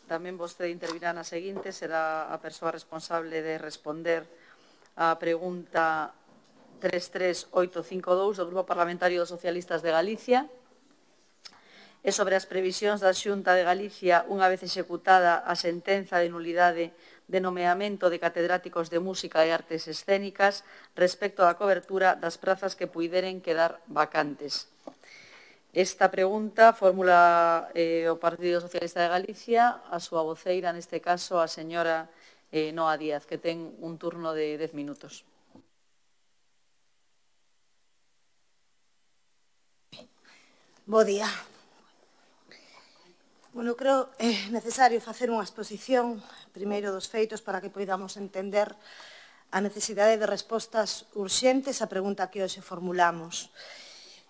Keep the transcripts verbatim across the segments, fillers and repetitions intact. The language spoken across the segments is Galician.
tamén vostede intervirá na seguinte, será a persoa responsable de responder a pregunta tres tres oito cinco dous do Grupo Parlamentario dos Socialistas de Galicia. É sobre as previsións da Xunta de Galicia unha vez executada a sentenza de nulidade de nomeamento de catedráticos de Música e Artes Escénicas respecto á cobertura das prazas que puideren quedar vacantes. Esta pregunta formula eh, o Partido Socialista de Galicia, a súa voceira, neste caso, a señora eh, Noa Díaz, que ten un turno de dez minutos. Bo día. Bueno, creo é necesario facer unha exposición, primeiro dos feitos, para que poidamos entender a necesidade de respostas urxentes á pregunta que hoxe formulamos.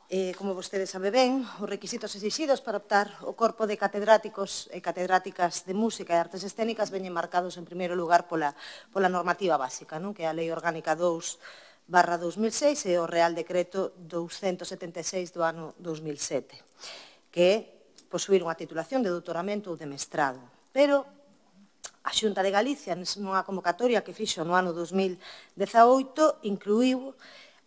Eh, como vostede sabe ben, os requisitos exixidos para optar o corpo de catedráticos e catedráticas de música e artes escénicas veñen marcados en primeiro lugar pola, pola normativa básica, non? Que é a Lei Orgánica dous barra dos mil seis e o Real Decreto douscentos setenta e seis do ano dos mil sete, que é posuir unha titulación de doutoramento ou de mestrado. Pero a Xunta de Galicia, nunha convocatoria que fixo no ano dos mil dezaoito, incluiu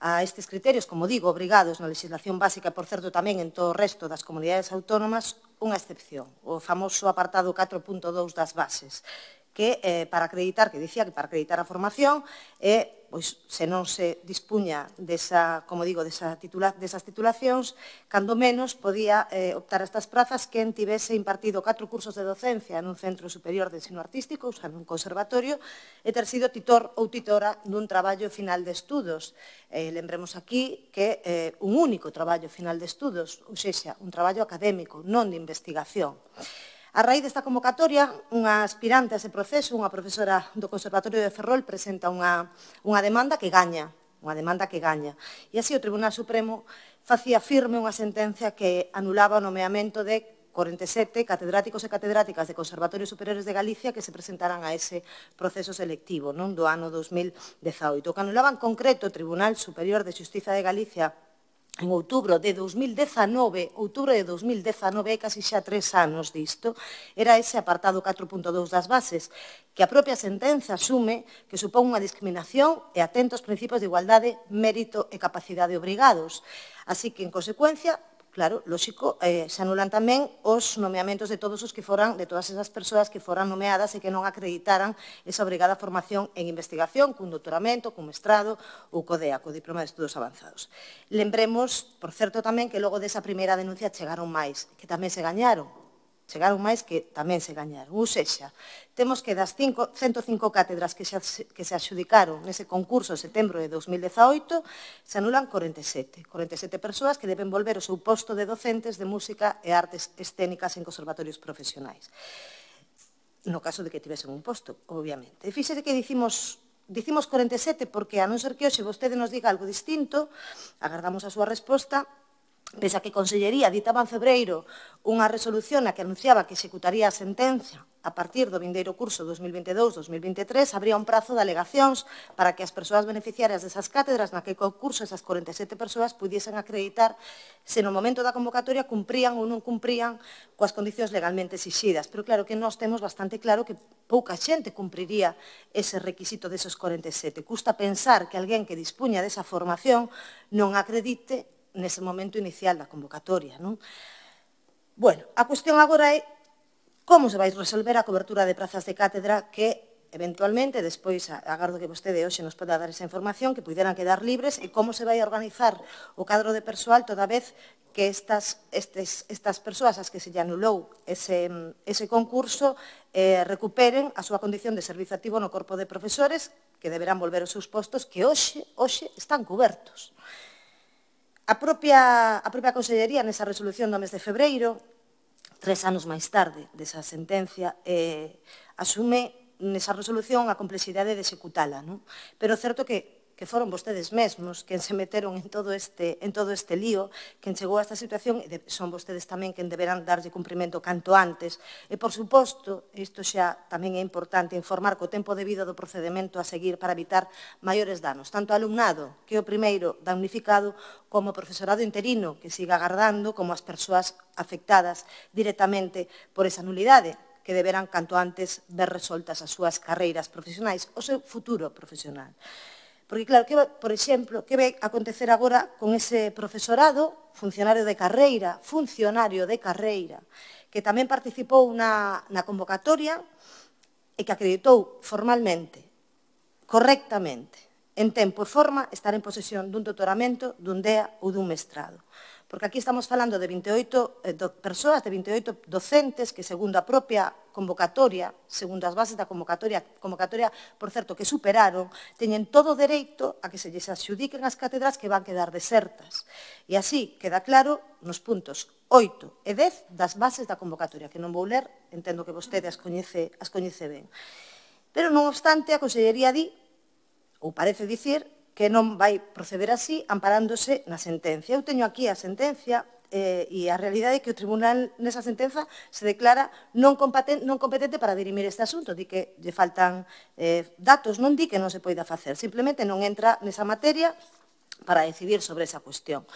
a estes criterios, como digo, obrigados na legislación básica e, por certo, tamén en todo o resto das comunidades autónomas, unha excepción, o famoso apartado catro punto dous das bases, que eh, para acreditar, que dicía que para acreditar a formación, é, pois, se non se dispuña desa, como digo, desa titula, desas titulacións, cando menos podía eh, optar a estas prazas quen tivese impartido catro cursos de docencia nun centro superior de ensino artístico, ou sea, nun conservatorio, e ter sido titor ou titora dun traballo final de estudos. Eh, lembremos aquí que eh, un único traballo final de estudos, ou sexa, un traballo académico, non de investigación. A raíz desta convocatoria, unha aspirante a ese proceso, unha profesora do Conservatorio de Ferrol, presenta unha, unha demanda que gaña, unha demanda que gaña. E así o Tribunal Supremo facía firme unha sentencia que anulaba o nomeamento de corenta e sete catedráticos e catedráticas de Conservatorios Superiores de Galicia que se presentaran a ese proceso selectivo, non, do ano dos mil dezaoito. O que anulaba en concreto o Tribunal Superior de Xustiza de Galicia en outubro de dos mil dezanove, outubro de dos mil dezanove, casi xa tres anos disto, era ese apartado catro punto dous das bases, que a propia sentenza asume que supón unha discriminación e atenta aos principios de igualdade, mérito e capacidade obrigados. Así que, en consecuencia, claro, lógico, eh, se anulan tamén os nomeamentos de todos os que foran, de todas esas persoas que foran nomeadas e que non acreditaran esa obrigada formación en investigación, cun doutoramento, cun mestrado ou co D E A, co Diploma de Estudos Avanzados. Lembremos, por certo, tamén que logo desa primeira denuncia chegaron máis, que tamén se gañaron. Chegaron máis que tamén se gañaron. Ou sexa, temos que das ciento cinco cátedras que se adxudicaron nese concurso en setembro de dos mil dezaoito, se anulan corenta e sete. corenta e sete persoas que deben volver o seu posto de docentes de música e artes escénicas en conservatorios profesionais. No caso de que tivesen un posto, obviamente. E fíxese que dicimos... Dicimos corenta e sete porque, a non ser que hoxe vostede nos diga algo distinto, agardamos a súa resposta. Pese a que a Consellería ditaba en febreiro unha resolución na que anunciaba que executaría a sentencia a partir do vindeiro curso dos mil veintidós dos mil veintitrés, habría un prazo de alegacións para que as persoas beneficiarias desas cátedras naquele concurso, esas corenta e sete persoas, pudiesen acreditar se no momento da convocatoria cumprían ou non cumprían coas condicións legalmente exixidas. Pero claro que nós temos bastante claro que pouca xente cumpriría ese requisito desos corenta e sete. Custa pensar que alguén que dispuña desa formación non acredite nese momento inicial da convocatoria, non? Bueno, a cuestión agora é como se vai resolver a cobertura de prazas de cátedra que, eventualmente, despois, agardo que vostede hoxe nos poda dar esa información, que puderan quedar libres, e como se vai organizar o cadro de persoal toda vez que estas, estes, estas persoas as que se lle anulou ese, ese concurso eh, recuperen a súa condición de servizo activo no corpo de profesores, que deberán volver aos seus postos, que hoxe, hoxe están cubertos. A propia, a propia Consellería, nesa resolución do mes de febreiro, tres anos máis tarde desa sentencia, eh, asume nesa resolución a complexidade de executala, non? Pero é certo que que foron vostedes mesmos quen se meteron en todo este, en todo este lío, quen chegou a esta situación, e son vostedes tamén quen deberán darlle cumprimento canto antes. E, por suposto, isto xa tamén é importante, informar co tempo debido do procedimento a seguir para evitar maiores danos, tanto ao alumnado, que é o primeiro damnificado, como o profesorado interino, que siga agardando, como as persoas afectadas directamente por esa nulidade, que deberán canto antes ver resoltas as súas carreiras profesionais, o seu futuro profesional. Porque, claro, que, por exemplo, que vai acontecer agora con ese profesorado, funcionario de carreira, funcionario de carreira, que tamén participou na, na convocatoria e que acreditou formalmente, correctamente, en tempo e forma, estar en posesión dun doutoramento, dun D E A ou dun mestrado. Porque aquí estamos falando de vinte e oito eh, do, persoas, de vinte e oito docentes que, segundo a propia convocatoria, segundo as bases da convocatoria, convocatoria, por certo, que superaron, teñen todo o dereito a que se lles adxudiquen as cátedras que van quedar desertas. E así queda claro nos puntos oito e dez das bases da convocatoria, que non vou ler, entendo que vostede as coñece, as coñece ben. Pero, non obstante, a Consellería di, ou parece dicir, que non vai proceder así amparándose na sentencia. Eu teño aquí a sentencia eh, e a realidade é que o Tribunal nesa sentenza se declara non competente, non competente para dirimir este asunto. Di que lle faltan eh, datos, non di que non se poida facer, simplemente non entra nesa materia para decidir sobre esa cuestión.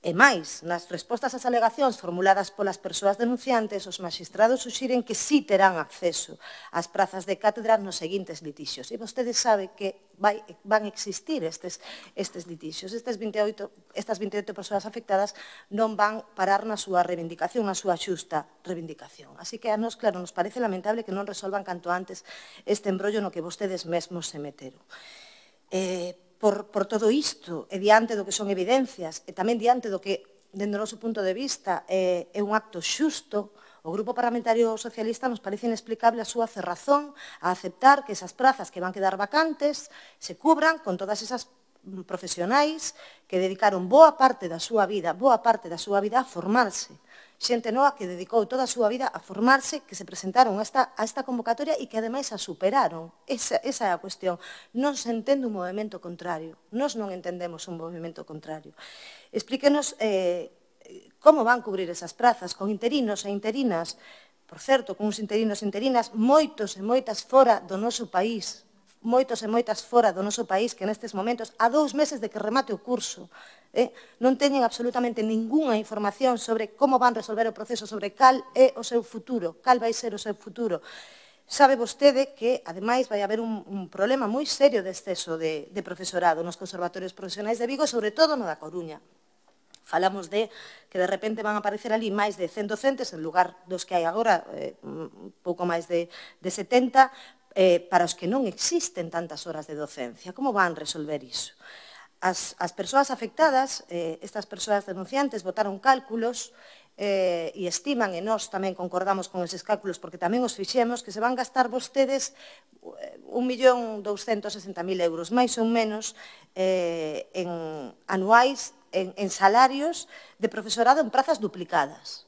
E máis, nas respostas ás alegacións formuladas polas persoas denunciantes, os magistrados suxiren que sí terán acceso ás prazas de cátedra nos seguintes litixios. E vostede sabe que vai, van existir estes, estes litixios. Estes vinte e oito, estas vinte e oito persoas afectadas non van parar na súa reivindicación, na súa xusta reivindicación. Así que a nós, claro, nos parece lamentable que non resolvan canto antes este embrollo no que vostedes mesmos se meteron. Eh, Por, por todo isto, e diante do que son evidencias, e tamén diante do que, dende o noso punto de vista, é, é un acto xusto, o Grupo Parlamentario Socialista nos parece inexplicable a súa cerrazón a aceptar que esas prazas que van quedar vacantes se cubran con todas esas profesionais que dedicaron boa parte da súa vida, boa parte da súa vida a formarse. Xente nova que dedicou toda a súa vida a formarse, que se presentaron a esta, a esta convocatoria e que, ademais, a superaron. Esa, esa é a cuestión. Non se entende un movimento contrario. Nós non entendemos un movimento contrario. Explíquenos eh, como van cubrir esas prazas, con interinos e interinas, por certo, con uns interinos e interinas, moitos e moitas fora do noso país, moitos e moitas fora do noso país que nestes momentos, a dous meses de que remate o curso, eh, non teñen absolutamente ningunha información sobre como van resolver o proceso, sobre cal é o seu futuro, cal vai ser o seu futuro. Sabe vostede que, ademais, vai haber un, un problema moi serio de exceso de, de profesorado nos conservatorios profesionais de Vigo, sobre todo no da Coruña. Falamos de que de repente van a aparecer ali máis de cen docentes en lugar dos que hai agora, eh, un pouco máis de, de setenta, eh, para os que non existen tantas horas de docencia. Como van resolver iso? As, as persoas afectadas, eh, estas persoas denunciantes, botaron cálculos eh, e estiman, e nós tamén concordamos con eses cálculos porque tamén os fixemos, que se van gastar vostedes un millón douscentos e sesenta mil euros, máis ou menos, eh, en anuais, en, en salarios de profesorado en prazas duplicadas.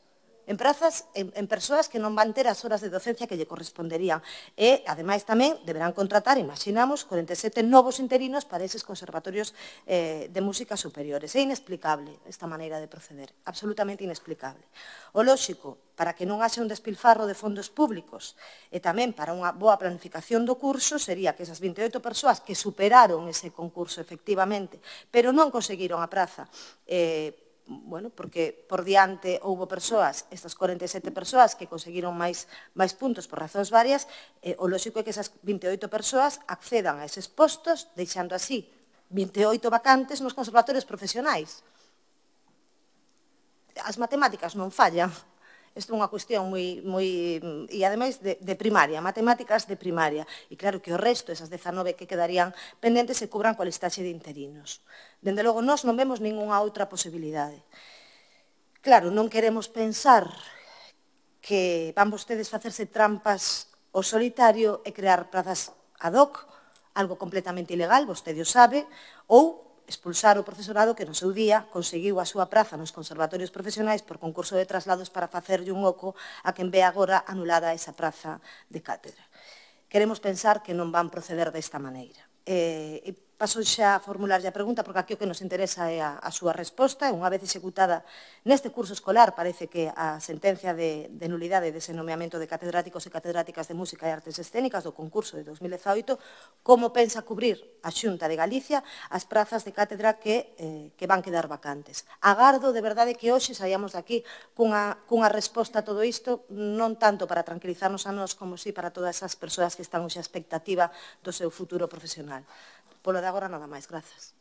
En prazas, en, en persoas que non van ter as horas de docencia que lle corresponderían. E, ademais, tamén deberán contratar, imaginamos, cuarenta e sete novos interinos para eses conservatorios eh, de música superiores. É inexplicable esta maneira de proceder, absolutamente inexplicable. O lóxico, para que non haxe un despilfarro de fondos públicos e tamén para unha boa planificación do curso, sería que esas vinte e oito persoas que superaron ese concurso efectivamente, pero non conseguiron a praza, eh, bueno, porque por diante houbo persoas, estas cuarenta e sete persoas que conseguiron máis, máis puntos por razóns varias, eh, o lóxico é que esas vinte e oito persoas accedan a eses postos, deixando así vinte e oito vacantes nos conservatorios profesionais. As matemáticas non fallan. Isto é unha cuestión moi, moi e ademais de, de primaria, matemáticas de primaria. E claro que o resto, esas dezanove que quedarían pendentes, se cubran coa listaxe de interinos. Dende logo, nós non vemos ningunha outra posibilidade. Claro, non queremos pensar que van vostedes facerse trampas ao solitario e crear prazas ad hoc, algo completamente ilegal, vostede o sabe, ou expulsar o profesorado que no seu día conseguiu a súa praza nos conservatorios profesionais por concurso de traslados para facerlle un oco a quen ve agora anulada esa praza de cátedra. Queremos pensar que non van proceder desta maneira. E, Paso xa a formularlle a pregunta, porque aquí o que nos interesa é a, a súa resposta. Unha vez executada neste curso escolar, parece que a sentencia de, de nulidade dese nomeamento de catedráticos e catedráticas de música e artes escénicas do concurso de dos mil dezaoito, como pensa cubrir a Xunta de Galicia as prazas de cátedra que, eh, que van quedar vacantes. Agardo de verdade que hoxe saíamos daqui cunha, cunha resposta a todo isto, non tanto para tranquilizarnos a nós, como si para todas as persoas que están hoxe a expectativa do seu futuro profesional. Polo de agora, nada máis. Grazas.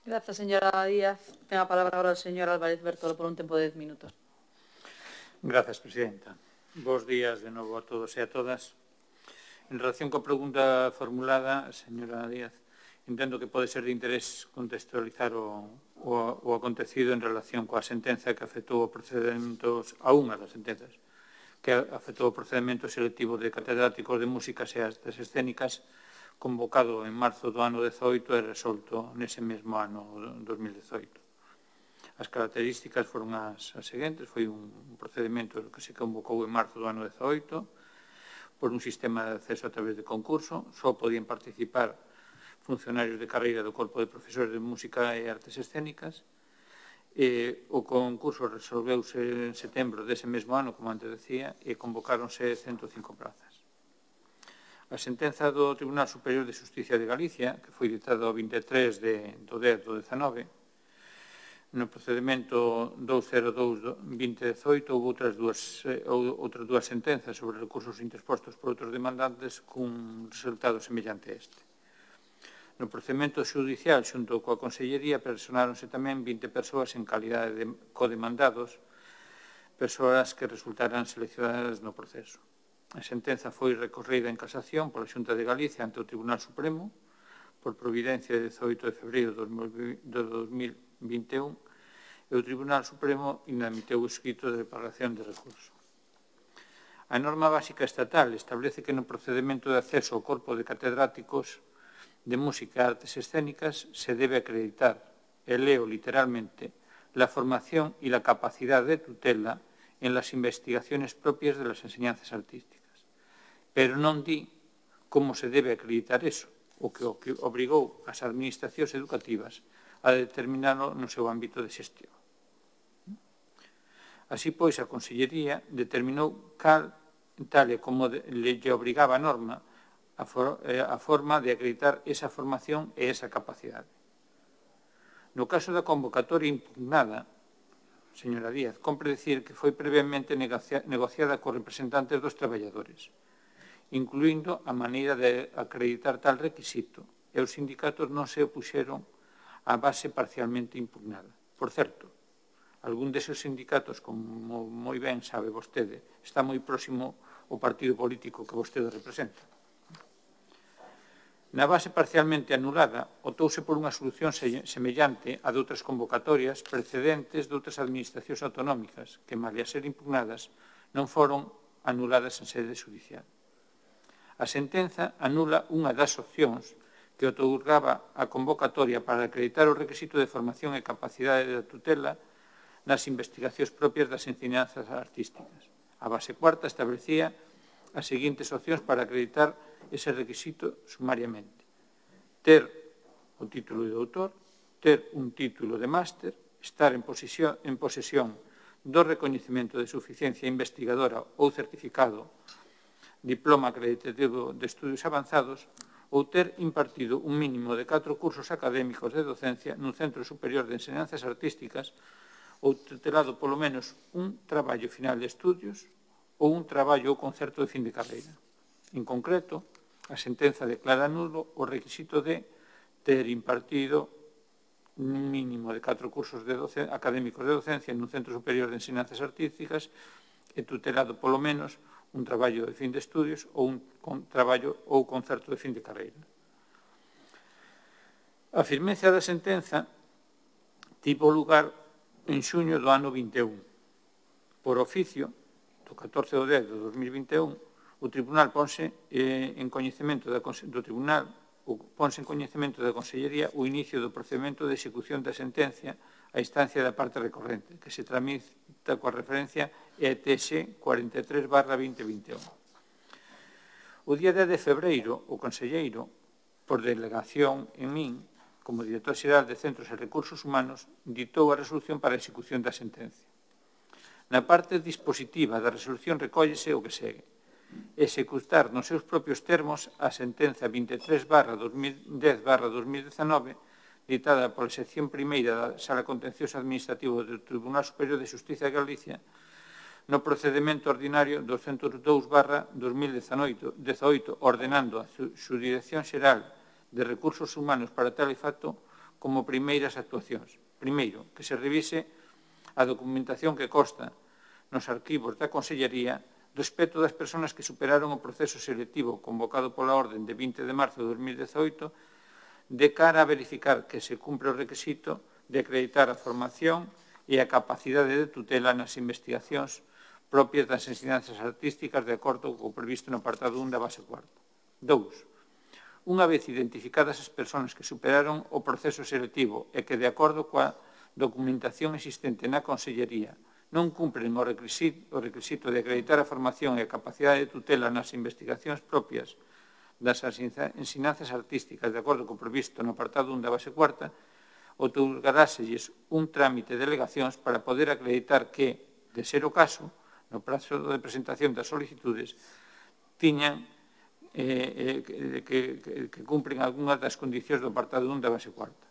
Grazas, señora Díaz. Ten a palabra agora o señor Álvarez Bertolo por un tempo de dez minutos. Grazas, presidenta. Bos días de novo a todos e a todas. En relación coa pregunta formulada, señora Díaz, entendo que pode ser de interés contextualizar o, o, o acontecido en relación coa sentenza que afectou o procedimento, a unha das sentenzas, que afectou o procedimento selectivo de catedráticos de músicas e artes escénicas convocado en marzo do ano dezoito e resolto nese mesmo ano dos mil dezoito. As características foron as, as seguintes. Foi un procedimento que se convocou en marzo do ano dezoito por un sistema de acceso a través de concurso. Só podían participar funcionarios de carreira do Corpo de Profesores de Música e Artes Escénicas. E o concurso resolveuse en setembro dese mesmo ano, como antes decía, e convocáronse ciento cinco plazas. A sentenza do Tribunal Superior de Xusticia de Galicia, que foi ditada o vinte e tres de, do dez do dezanove, no procedimento doscientos dous do vinte dezoito houve outras dúas, eh, outras dúas sentenzas sobre recursos interpostos por outros demandantes cun resultado semellante a este. No procedimento xudicial xunto coa Consellería personáronse tamén vinte persoas en calidade de codemandados, persoas que resultaran seleccionadas no proceso. A sentenza foi recorrida en casación pola Xunta de Galicia ante o Tribunal Supremo por providencia de dezoito de febreiro de dos mil vinte e un e o Tribunal Supremo inadmitiu o escrito de declaración de recurso. A norma básica estatal establece que no procedimento de acceso ao corpo de catedráticos de música e artes escénicas se debe acreditar, e leo literalmente, la formación y la capacidad de tutela en las investigaciones propias de las enseñanzas artísticas. Pero non di como se debe acreditar eso, o que obrigou as administracións educativas a determinarlo no seu ámbito de xestión. Así, pois, a Consellería determinou cal, tal e como le obrigaba a norma, a, for, a forma de acreditar esa formación e esa capacidade. No caso da convocatoria impugnada, señora Díaz, compre dicir que foi previamente negociada cos representantes dos traballadores, incluindo a maneira de acreditar tal requisito, e os sindicatos non se opuxeron á base parcialmente impugnada. Por certo, algún deses sindicatos, como moi ben sabe vostede, está moi próximo ao partido político que vostede representa. Na base parcialmente anulada, optouse por unha solución semellante a de outras convocatorias precedentes de outras administracións autonómicas que, malia ser impugnadas, non foron anuladas en sede judicial. A sentenza anula unha das opcións que outorgaba a convocatoria para acreditar o requisito de formación e capacidade de tutela nas investigacións propias das ensinanzas artísticas. A base cuarta establecía as seguintes opcións para acreditar ese requisito sumariamente: ter o título de doutor, ter un título de máster, estar en posesión, en posesión do recoñecemento de suficiencia investigadora ou certificado, diploma acreditativo de estudios avanzados, ou ter impartido un mínimo de catro cursos académicos de docencia nun centro superior de enseñanzas artísticas ou tutelado polo menos un traballo final de estudios ou un traballo ou concerto de fin de carreira. En concreto, a sentenza declara nulo o requisito de ter impartido un mínimo de catro cursos de académicos de docencia nun centro superior de enseñanzas artísticas e tutelado polo menos un traballo de fin de estudios ou un traballo ou concerto de fin de carreira. A firmeza da sentenza tivo lugar en xuño do ano vinte e un. Por oficio, do catorce de dez de dos mil vinte e un, o Tribunal ponse eh, en coñecemento da, do Tribunal o, ponse en coñecemento da Consellería o inicio do procedimento de execución da sentencia a instancia da parte recorrente, que se tramita coa referencia E T X cuarenta e tres barra veinte vinte e un. O día dez de febreiro, o conselleiro por delegación en min, como director xeral de Centros e Recursos Humanos, ditou a resolución para a execución da sentencia. Na parte dispositiva da resolución recóllese o que segue: executar nos seus propios termos a sentenza vinte e tres barra dos mil dez barra dos mil dezanove ditada pola sección primeira da Sala Contencioso Administrativo do Tribunal Superior de Xustiza de Galicia no procedimento ordinario doscientos dous barra dos mil dezaoito, ordenando a Subdirección Xeral de Recursos Humanos para tal efecto como primeiras actuacións. Primeiro, que se revise a documentación que consta nos arquivos da Consellería respecto das persoas que superaron o proceso selectivo convocado pola orden de vinte de marzo de dos mil dezaoito de cara a verificar que se cumpre o requisito de acreditar a formación e a capacidade de tutela nas investigacións propias das ensinanzas artísticas de acordo co previsto no apartado un da base cuarta. Dous, unha vez identificadas as persoas que superaron o proceso selectivo e que, de acordo coa documentación existente na Consellería, non cumpren o requisito, o requisito de acreditar a formación e a capacidade de tutela nas investigacións propias das ensinanzas artísticas de acordo co previsto no apartado un da base cuarta, outorgaráselles un trámite de alegacións para poder acreditar que, de ser o caso, no prazo de presentación das solicitudes, tiñan eh, que, que, que cumpren algunhas das condicións do apartado un da base cuarta.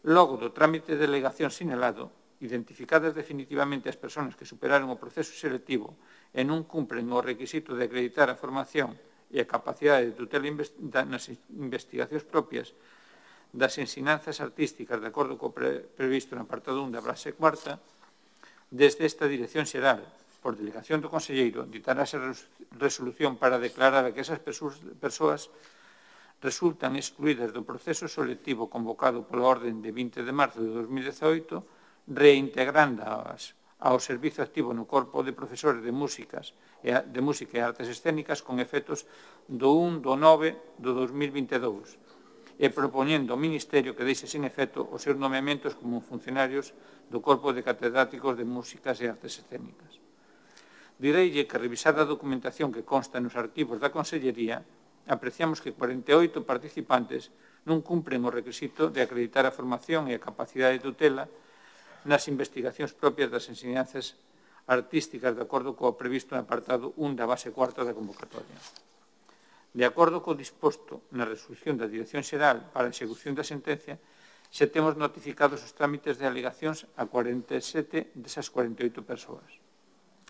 Logo do trámite de alegación sinalado, identificadas definitivamente as persoas que superaron o proceso selectivo e non cumpren o requisito de acreditar a formación e a capacidade de tutela nas investigacións propias das ensinanzas artísticas de acordo co previsto no apartado un da base cuarta, desde esta Dirección Xeral, por delegación do Conselleiro, ditarase resolución para declarar que esas persoas resultan excluídas do proceso selectivo convocado pola orden de vinte de marzo de dos mil dezaoito, reintegrándoas ao servizo activo no corpo de profesores de músicas e de música e artes escénicas con efectos do un do nove do dos mil vinte e dous e propoñendo ao Ministerio que deixe sin efecto os seus nomeamentos como funcionarios do corpo de catedráticos de músicas e artes escénicas. Direille que, revisada a documentación que consta nos arquivos da Consellería, apreciamos que cuarenta e oito participantes non cumpren o requisito de acreditar a formación e a capacidade de tutela nas investigacións propias das ensinanzas artísticas de acordo co previsto no apartado un da base cuarta da convocatoria. De acordo co disposto na resolución da Dirección Xeral para a execución da sentencia, xa temos notificados os trámites de alegacións a cuarenta e sete desas cuarenta e oito persoas.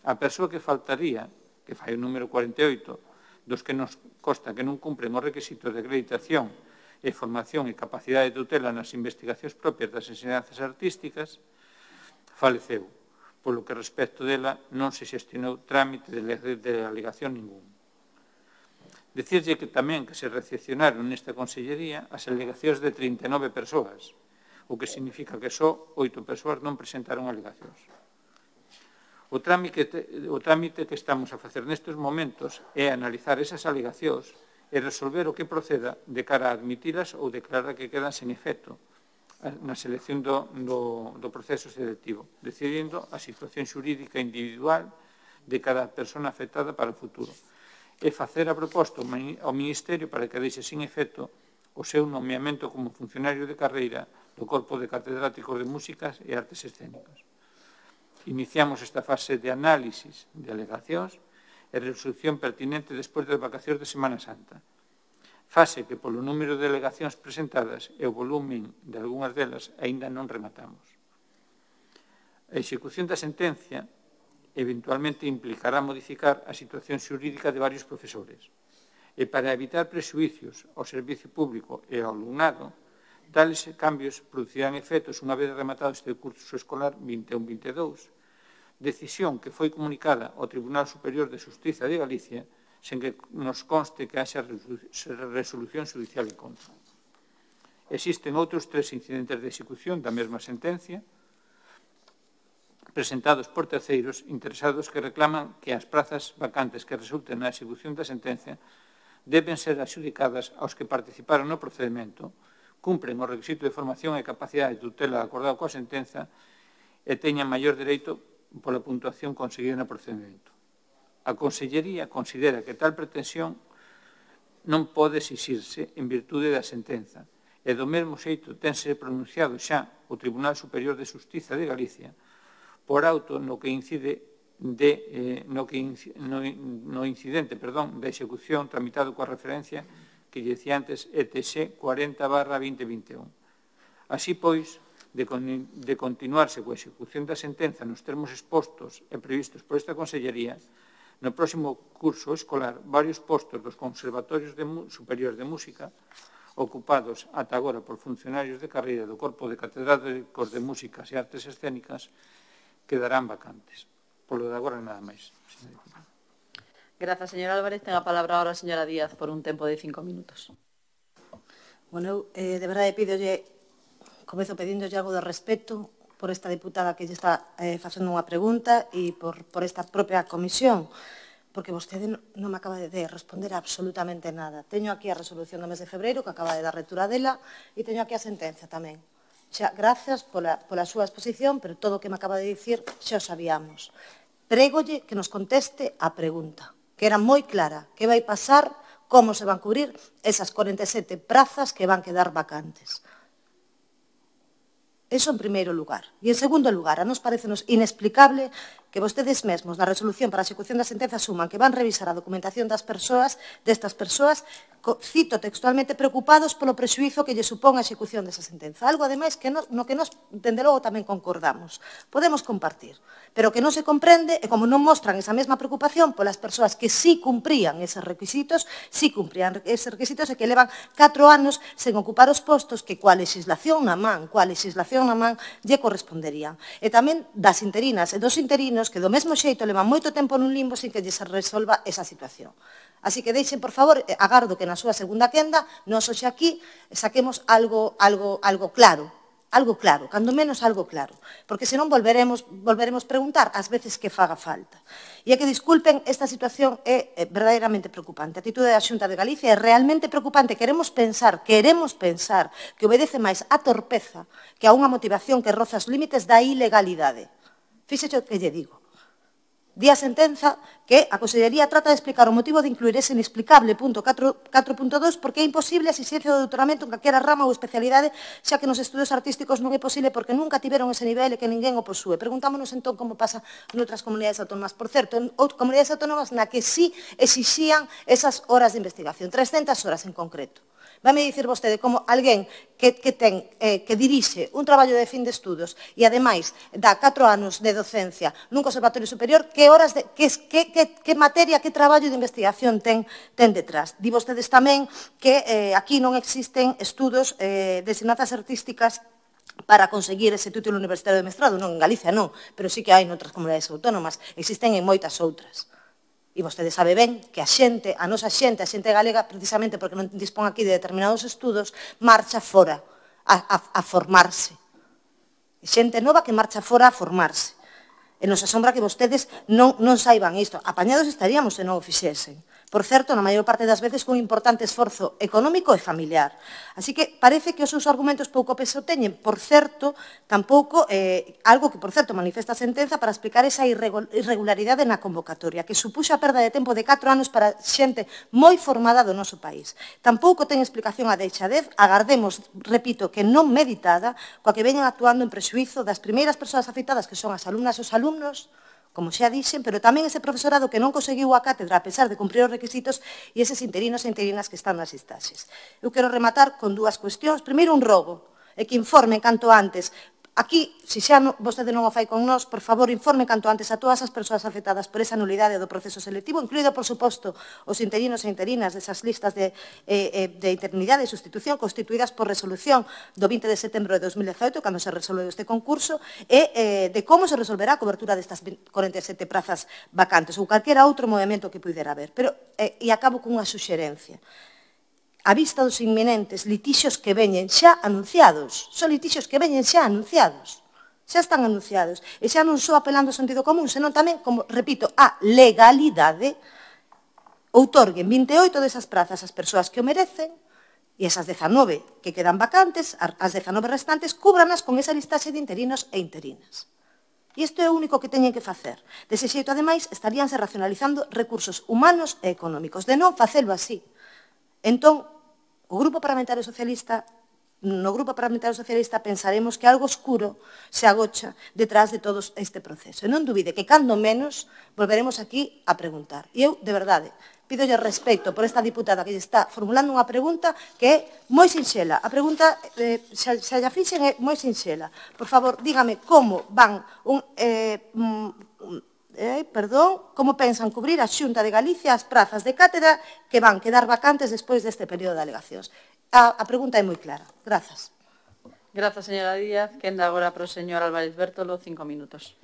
A persoa que faltaría, que fai o número cuarenta e oito, dos que nos consta que non cumpren os requisitos de acreditación e formación e capacidade de tutela nas investigacións propias das ensinanzas artísticas, faleceu, polo que respecto dela non se xestionou trámite de alegación ningún. Dicirlle que tamén que se recepcionaron nesta Consellería as alegacións de trinta e nove persoas, o que significa que só oito persoas non presentaron alegacións. O trámite, o trámite que estamos a facer nestes momentos é analizar esas alegacións e resolver o que proceda de cara a admitilas ou declarar que quedan sen efecto na selección do, do, do proceso selectivo, decidindo a situación xurídica individual de cada persona afectada para o futuro e facer a proposta ao Ministerio para que deixe sin efecto o seu nomeamento como funcionario de carreira do Corpo de Catedráticos de Músicas e Artes Escénicas. Iniciamos esta fase de análisis de alegacións e resolución pertinente despois das vacacións de Semana Santa. Fase que, polo número de alegacións presentadas e o volumen de algunhas delas, aínda non rematamos. A execución da sentencia eventualmente implicará modificar a situación xurídica de varios profesores e para evitar prexuicios ao servicio público e ao alumnado, tales cambios producirán efectos unha vez rematado este curso escolar vinte e un vinte e dous, decisión que foi comunicada ao Tribunal Superior de Xustiza de Galicia sen que nos conste que haxa resolución judicial en contra. Existen outros tres incidentes de execución da mesma sentencia presentados por terceiros interesados que reclaman que as prazas vacantes que resulten na execución da sentencia deben ser adxudicadas aos que participaron no procedimento, cumpren o requisito de formación e capacidade de tutela acordado coa sentenza e teñan maior dereito pola puntuación conseguida no procedimento. A Consellería considera que tal pretensión non pode exixirse en virtude da sentenza, e do mesmo xeito tense pronunciado xa o Tribunal Superior de Xustiza de Galicia por auto no que incide de, eh, no, que inc no, no incidente perdón, da execución tramitado coa referencia que lle dicía antes E T X cuarenta barra veinte veintiún. Así, pois, de, con, de continuarse coa execución da sentenza nos termos expostos e previstos por esta Consellería, no próximo curso escolar, varios postos dos conservatorios de, superiores de música ocupados ata agora por funcionarios de carreira do Corpo de Catedráticos de Músicas e Artes Escénicas quedarán vacantes. Polo de agora, nada máis. Grazas, señor Álvarez. Ten a palabra ahora a señora Díaz por un tempo de cinco minutos. Bueno, eh, de verdade pídolle, comezo pedíndolle algo de respeto por esta diputada que lle está eh, facendo unha pregunta e por, por esta propia comisión, porque vostede non me acaba de responder absolutamente nada. Teño aquí a resolución do mes de febreiro, que acaba de dar lectura dela, e teño aquí a sentenza tamén. Xa, gracias pola, pola súa exposición, pero todo o que me acaba de dicir xa o sabíamos. Prégolle que nos conteste a pregunta, que era moi clara, que vai pasar, como se van cubrir esas cuarenta e sete prazas que van quedar vacantes. Eso en primeiro lugar. E en segundo lugar, a nos parecenos inexplicable que vostedes mesmos na resolución para a execución da sentenza asuman que van revisar a documentación das persoas, destas persoas, cito textualmente, preocupados polo prexuízo que lle supón a execución desa sentenza. Algo, ademais, que no, no que nos, dende logo, tamén concordamos. Podemos compartir. Pero que non se comprende é como non mostran esa mesma preocupación polas persoas que sí cumprían eses requisitos, sí cumprían eses requisitos e que levan catro anos sen ocupar os postos que coa legislación na man, coa legislación na man, lle corresponderían. E tamén das interinas e dos interinos que do mesmo xeito levan moito tempo nun limbo sin que lle se resolva esa situación. Así que deixen, por favor, agardo que na súa segunda quenda, nós hoxe aquí saquemos algo, algo, algo claro, algo claro, cando menos algo claro, porque senón volveremos, volveremos preguntar ás veces que faga falta. E é que, disculpen, esta situación é verdadeiramente preocupante. A atitude da Xunta de Galicia é realmente preocupante. Queremos pensar, queremos pensar que obedece máis a torpeza que a unha motivación que roza os límites da ilegalidade. Fíxese o que lle digo. Di a sentenza que a Consellería trata de explicar o motivo de incluir ese inexplicable punto catro punto dos porque é imposible a exigencia do doutoramento en calquera rama ou especialidade, xa que nos estudos artísticos non é posible porque nunca tiveron ese nivel e que ninguén o posúe. Preguntámonos entón como pasa noutras comunidades autónomas. Por certo, en outras comunidades autónomas na que sí exixían esas horas de investigación, trescentas horas en concreto. Vai me dicir vostede como alguén que, que, ten, eh, que dirixe un traballo de fin de estudos e, ademais, dá catro anos de docencia nun conservatorio superior, que horas de, que, que, que, que materia, que traballo de investigación ten, ten detrás. Di vostedes tamén que eh, aquí non existen estudos eh, de ensinanzas artísticas para conseguir ese título universitario de mestrado. Non, en Galicia non, pero sí que hai noutras comunidades autónomas. Existen en moitas outras. E vostede sabe ben que a xente, a nosa xente, a xente galega, precisamente porque non dispón aquí de determinados estudos, marcha fora a, a, a formarse. E xente nova que marcha fora a formarse. E nos asombra que vostedes non, non saiban isto. Apañados estaríamos se non o fixesen. Por certo, na maior parte das veces con un importante esforzo económico e familiar. Así que parece que os seus argumentos pouco peso teñen. Por certo, tampouco, eh, algo que, por certo, manifesta a sentenza para explicar esa irregularidade na convocatoria, que supuxo a perda de tempo de catro anos para xente moi formada do noso país. Tampouco ten explicación a deixadez, agardemos, repito, que non meditada, coa que veñan actuando en prexuízo das primeiras persoas afectadas, que son as alumnas e os alumnos, como xa dixen, pero tamén ese profesorado que non conseguiu a cátedra a pesar de cumprir os requisitos e eses interinos e interinas que están nas listaxes. Eu quero rematar con dúas cuestións. Primeiro, un rogo, e que informen canto antes. Aquí, se xa no, vostede non o fai con nós, por favor, informe canto antes a todas as persoas afectadas por esa nulidade do proceso selectivo, incluído, por suposto, os interinos e interinas desas listas de, eh, de interinidade e sustitución constituídas por resolución do vinte de setembro de dos mil dezaoito, cando se resolveu este concurso, e eh, de como se resolverá a cobertura destas cuarenta e sete prazas vacantes ou calquera outro movimento que pudera haber. Pero, eh, e acabo cunha suxerencia. A vista dos inminentes litixios que veñen xa anunciados, son litixios que veñen xa anunciados, xa están anunciados, e xa non só apelando ao sentido común, senón tamén, como, repito, a legalidade, outorguen vinte e oito desas prazas ás persoas que o merecen, e esas dezanove que quedan vacantes, as dezanove restantes, cúbranas con esa listaxe de interinos e interinas. E isto é o único que teñen que facer. Dese xeito, ademais, estaríanse racionalizando recursos humanos e económicos. De non facelo así, Entón, o Grupo Parlamentario Socialista, no Grupo Parlamentario Socialista pensaremos que algo oscuro se agocha detrás de todo este proceso. E non dubide que, cando menos, volveremos aquí a preguntar. E eu, de verdade, pídolle respeto por esta diputada que lle está formulando unha pregunta que é moi sinxela. A pregunta, eh, se, se a fixen, é moi sinxela. Por favor, dígame como van un... Eh, um, Eh, perdón, como pensan cubrir a Xunta de Galicia as prazas de cátedra que van quedar vacantes despois deste período de alegacións. A, a pregunta é moi clara. Grazas. Grazas, señora Díaz. Quenda agora para o señor Álvarez Bértolo, cinco minutos.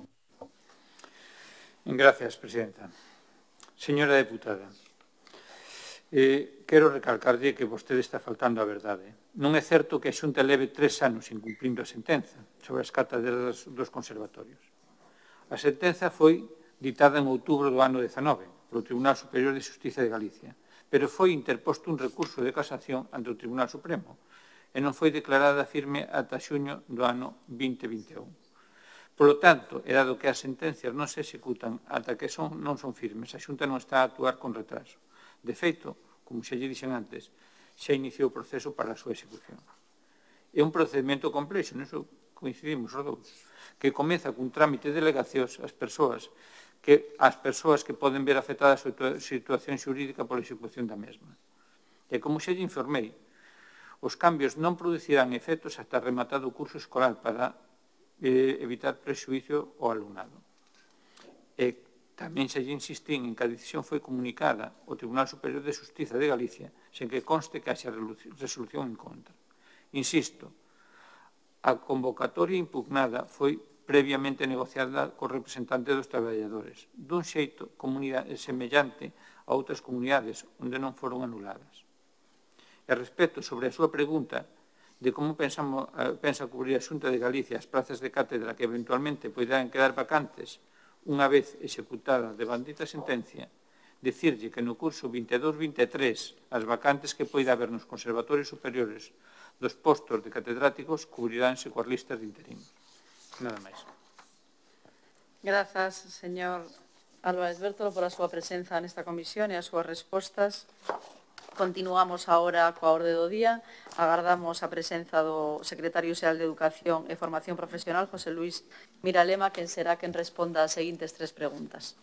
Gracias, presidenta. Señora deputada, eh, quero recalcarlle que vostede está faltando a verdade. Non é certo que a Xunta leve tres anos incumplindo a sentenza sobre as cátedras dos conservatorios. A sentenza foi ditada en outubro do ano dezanove polo Tribunal Superior de Xustiza de Galicia, pero foi interposto un recurso de casación ante o Tribunal Supremo e non foi declarada firme ata xuño do ano vinte vinte e un. Polo tanto, e dado que as sentencias non se executan ata que son, non son firmes, a Xunta non está a actuar con retraso. De feito, como xa lle dixen antes, xa iniciou o proceso para a súa execución. É un procedimento complexo, nisso coincidimos os dous, que comeza cun trámite de delegacións ás persoas que as persoas que poden ver afectada a súa situación xurídica pola execución da mesma. E como xa lle informei, os cambios non producirán efectos hasta rematado o curso escolar para eh, evitar prexuicio ao alumnado. E tamén xa lle insistín en que a decisión foi comunicada ao Tribunal Superior de Xustiza de Galicia sen que conste que haxa resolución en contra. Insisto, a convocatoria impugnada foi previamente negociada co representante dos traballadores, dun xeito semellante a outras comunidades onde non foron anuladas. E respecto sobre a súa pregunta de como pensamos, pensa cubrir a Xunta de Galicia as plazas de cátedra que eventualmente poderán quedar vacantes unha vez executada de bandita sentencia, dicirlle que no curso vinte e dous vinte e tres as vacantes que poida haber nos conservatorios superiores dos postos de catedráticos cubriránse coas listas de interinos. Nada máis. Grazas, señor Álvarez Bértolo, por a súa presenza nesta comisión e as súas respostas. Continuamos agora coa orde do día. Agardamos a presenza do secretario xeral de Educación e Formación Profesional, José Luís Miralema, quen será quen responda as seguintes tres preguntas.